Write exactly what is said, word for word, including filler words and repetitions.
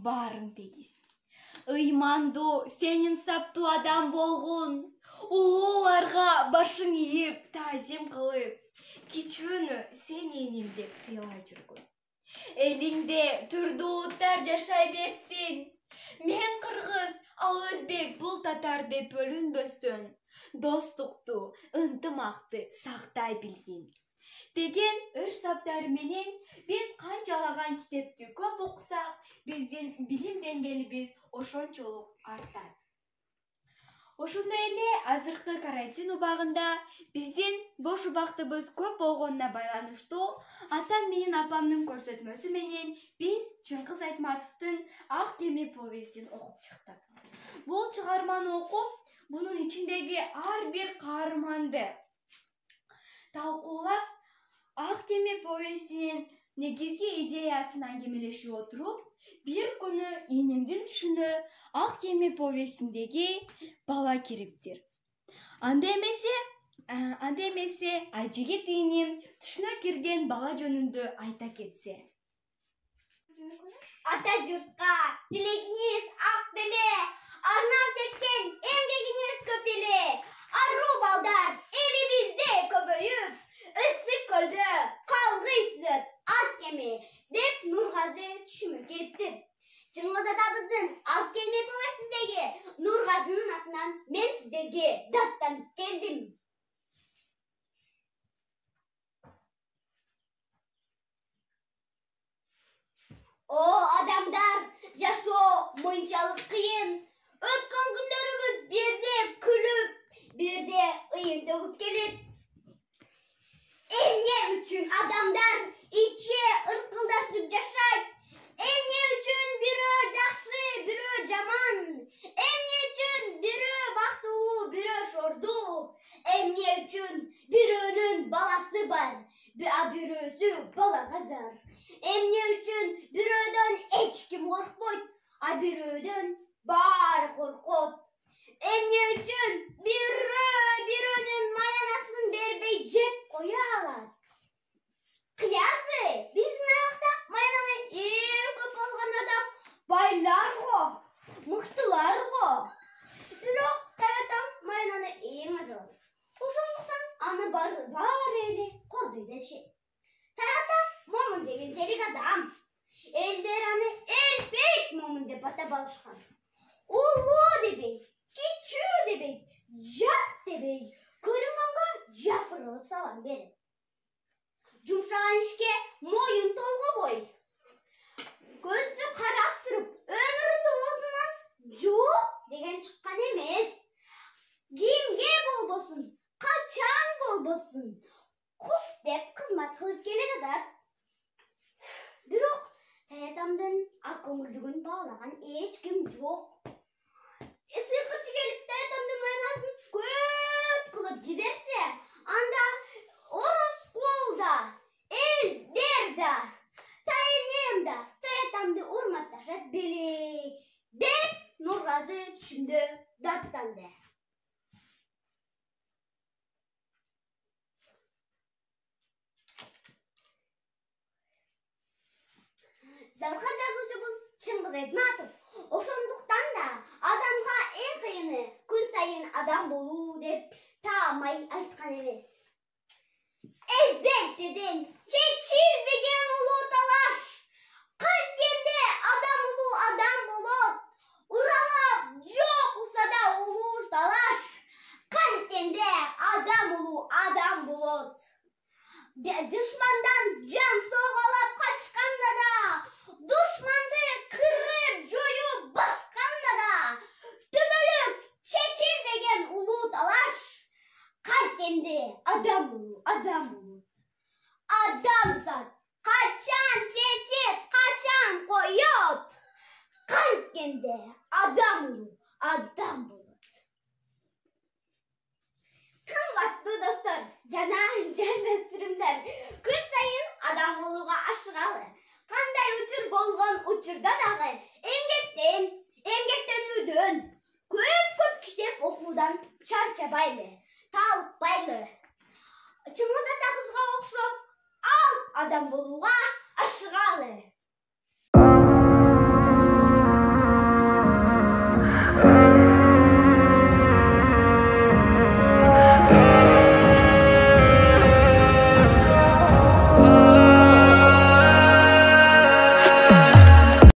баарын тегиз. Ыймандуу, сенин саптуу адам болгон. Улууларга башың ийип, таазим кылып, кичүүнү сен эним деп сыйлай жүргөн. Элиңде түрдүү улуттар жашай берсин. Мен кыргыз, ал өзбек, бул татар деп бөлүнбөстөн достукту, ынтымакты сактай билгин деген өр саптары менен биз канчалаган китепти көп окусак, биздин билим деңгээлибиз ошончолук артат. Ошондой эле азыркы карантин убагында биздин бош убактыбыз көп болгонуна байланыштуу атам менен апамдын көрсөтмөсү менен биз Чыңгыз Айтматовдун Ак кеме повестин окуп чыктык. Бул чыгарманы окуп, бунун ичиндеги ар бир каарманды талкуулап, Ак кеме повестинин негизги идеясын аңгемелешип отуруп, бир күнү энемдин түшүнө Ак кеме повестиндеги бала кириптир. Анда эмесе, анда эмесе Айжигит энем түшүнө кирген бала жөнүндө айта кетсе. Ата журтка тилегиңиз ак беле, арнап кеткен эмгегиңиз көп эле. Аруу балдар элибизде көбөйүп, ысык көлдө калгыйсыз ак кеме деп Нургазы түшүмө келиптир. Чыңгыз атабыздын Ак кеме повестиндеги Нургазынын атынан мен сиздерге даттанып келдим. О адамдар, жашоо мынчалык кыйын. Өткөн күндөрүбүз бирде күлүп, бирде ыйын төгүп келет. Эмне үчүн адамдар иче ыркылдашып жашайт? Эмне үчүн бирөө жакшы, бирөө жаман? Эмне үчүн бирөө бактылуу, бирөө шордуу? Эмне үчүн бирөөнүн баласы бар, а бирөөсү балага зар? Эмне үчүн бирөөдөн эч ким коркпойт, а бирөөдөн баары коркот? Эмне үчүн бирөө бирөөнүн маянасын бербей жеп кое алат? Кыязы, биздин аймакта маянаны эң көп алган адам байлар го, мыктылар го. Бирок таятам маянаны эң аз алат. Ошондуктан аны баары эле кордой беришет. Таятам момун дегенчелик адам. Элдер аны элбек момун деп атап алышкан. Улуу дебей, кичүү дебей, жат дебей, көрүнгөнгө жапырылып салам берет. Жумшаган ишке моюн толгобой. Көздү карап туруп, өмүрүндө оозунан жок деген чыккан эмес. Кимге болбосун, качан болбосун, куп деп кызмат кылып келе жатат. Бирок таятамдын ак көңүлдүгүн баалаган эч ким жок. Сыйкычы келип таятамдын майнасын көп кылып жиберсе, анда Ороскол да, элдер да, тайнем да таятамды урматташат беле деп Нургазы түшүндө даттанды. Залкар жазуучубуз Чыңгыз Айтматов ошондуктан да адамга эң кыйыны күн сайын адам болуу деп таамай айткан эмес. Эзентеден чечилбеген улуу талаш. Кайткенде адам улуу адам болот. Уралап жок усада улуу талаш. Кайткенде адам улуу адам болот. Душмандан жан согалап качканда да, душманды кырып жоюп басканда да, түбөлүк чечилбеген улуу талаш. Кайткенде адам улуу адам болот. Адамзат качан чечет, качан коет? Кайткенде адам улуу адам болот. Кымбаттуу достор жана жаш өспүрүмдөр, күн сайын адам болууга ашыгалы. Кандай учур болгон учурда дагы эмгектен, эмгектенүүдөн, көп-көп китеп окуудан чарчабайлы, талыкпайлы. Чыңгыз атабызга окшоп ал адам болууга